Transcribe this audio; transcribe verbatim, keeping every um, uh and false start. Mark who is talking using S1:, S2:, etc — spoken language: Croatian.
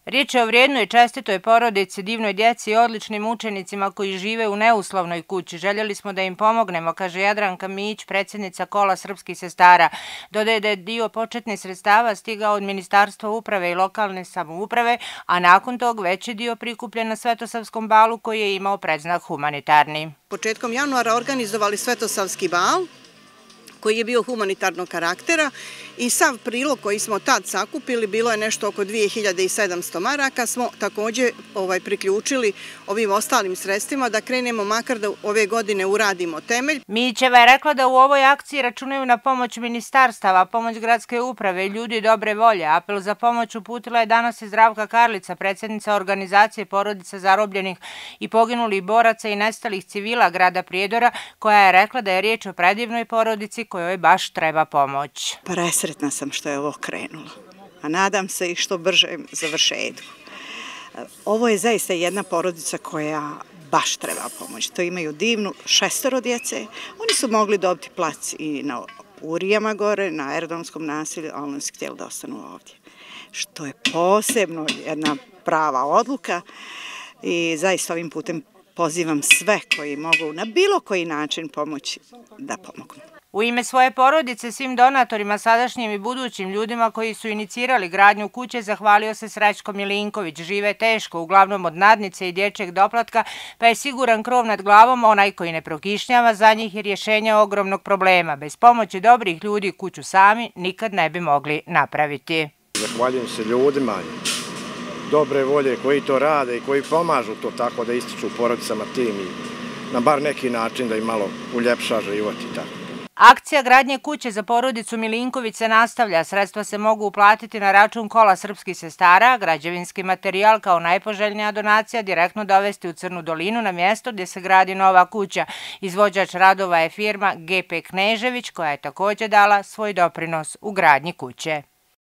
S1: Riječ je o vrijednoj i čestitoj porodici, divnoj djeci i odličnim učenicima koji žive u neuslovnoj kući. Željeli smo da im pomognemo, kaže Jadranka Mić, predsjednica Kola srpskih sestara. Dodaje da je dio početnih sredstava stigao od Ministarstva uprave i lokalne samouprave, a nakon tog veći dio prikupljen na Svetosavskom balu koji je imao predznak humanitarni.
S2: Početkom januara organizovali Svetosavski bal koji je bio humanitarnog karaktera i sav prilog koji smo tad sakupili, bilo je nešto oko dvije hiljade sedamsto maraka, smo također ovaj, priključili ovim ostalim sredstvima da krenemo makar da ove godine uradimo temelj.
S1: Mićeva je rekla da u ovoj akciji računaju na pomoć ministarstava, pomoć gradske uprave i ljudi dobre volje. Apel za pomoć uputila je danas i Zdravka Karlica, predsjednica organizacije porodica zarobljenih i poginulih boraca i nestalih civila grada Prijedora, koja je rekla da je riječ o predivnoj porodici kojoj baš treba pomoć.
S3: Presretna sam što je ovo krenulo, a nadam se i što bržem završetku. Ovo je zaista jedna porodica koja baš treba pomoć. To imaju divnu šestoro djece. Oni su mogli dobiti plac i na Urijama gore, na aerodromskom naselju, ali oni su htjeli da ostanu ovdje. Što je posebno jedna prava odluka i zaista ovim putem pozivam sve koji mogu na bilo koji način pomoći da pomognu.
S1: U ime svoje porodice svim donatorima, sadašnjim i budućim ljudima koji su inicirali gradnju kuće, zahvalio se Srećko Milinković. Žive teško, uglavnom od nadnice i dječjeg doplatka, pa je siguran krov nad glavom, onaj koji ne prokišnjava, za njih je rješenje ogromnog problema. Bez pomoći dobrih ljudi kuću sami nikad ne bi mogli napraviti.
S4: Zahvaljujem se ljudima dobre volje koji to rade i koji pomažu to tako da ističu porodicama tim i na bar neki način da im malo uljepša život i tako.
S1: Akcija gradnje kuće za porodicu Milinković se nastavlja. Sredstva se mogu uplatiti na račun Kola srpskih sestara, građevinski materijal kao najpoželjnija donacija direktno dovesti u Crnu dolinu na mjesto gdje se gradi nova kuća. Izvođač radova je firma G P Knežević koja je također dala svoj doprinos u gradnji kuće.